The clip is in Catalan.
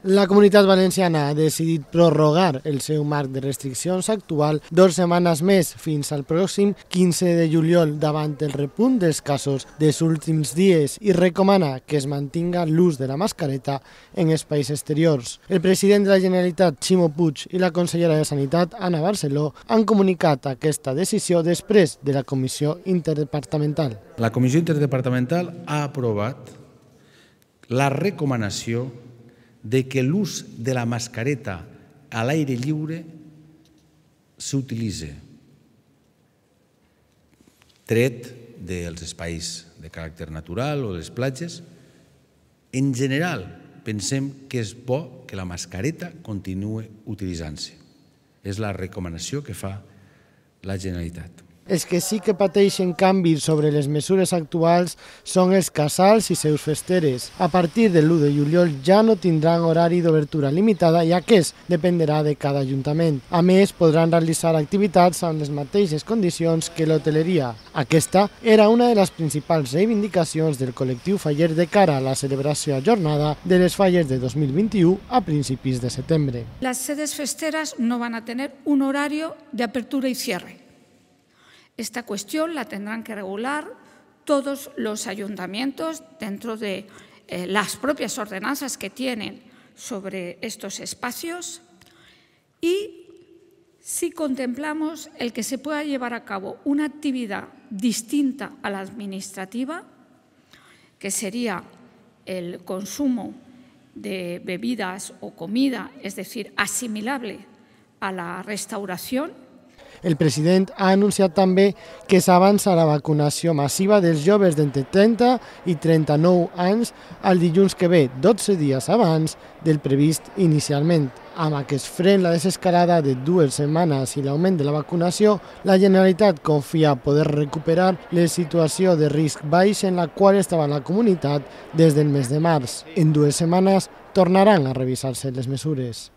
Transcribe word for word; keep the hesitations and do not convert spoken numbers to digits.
La Comunitat Valenciana ha decidit prorrogar el seu marc de restriccions actual dues setmanes més fins al pròxim quinze de juliol davant el repunt dels casos dels últims dies i recomana que es mantinga l'ús de la mascareta en espais exteriors. El president de la Generalitat, Ximo Puig, i la consellera de Sanitat, Ana Barceló, han comunicat aquesta decisió després de la comissió interdepartamental. La comissió interdepartamental ha aprovat la recomanació de que l'ús de la mascareta a l'aire lliure s'utilitzi, tret dels espais de caràcter natural o de les platges. En general, pensem que és bo que la mascareta continuï utilitzant-se. És la recomanació que fa la Generalitat. Els que sí que pateixen canvis sobre les mesures actuals són els casals i seus festeres. A partir de l'u de juliol ja no tindran horari d'obertura limitada i aquest dependrà de cada ajuntament. A més, podran realitzar activitats amb les mateixes condicions que l'hoteleria. Aquesta era una de les principals reivindicacions del col·lectiu faller de cara a la celebració a jornada de les falles de dos mil vint-i-u a principis de setembre. Las sedes festeras no van a tener un horario de apertura y cierre. Esta cuestión la tendrán que regular todos los ayuntamientos dentro de eh, las propias ordenanzas que tienen sobre estos espacios y si contemplamos el que se pueda llevar a cabo una actividad distinta a la administrativa, que sería el consumo de bebidas o comida, es decir, asimilable a la restauración. El president ha anunciat també que s'avança la vacunació massiva dels joves d'entre trenta i trenta-nou anys el dilluns que ve, dotze dies abans del previst inicialment. Amb aquest fren la desescalada de dues setmanes i l'augment de la vacunació, la Generalitat confia poder recuperar la situació de risc baix en la qual estava la comunitat des del mes de març. En dues setmanes tornaran a revisar-se les mesures.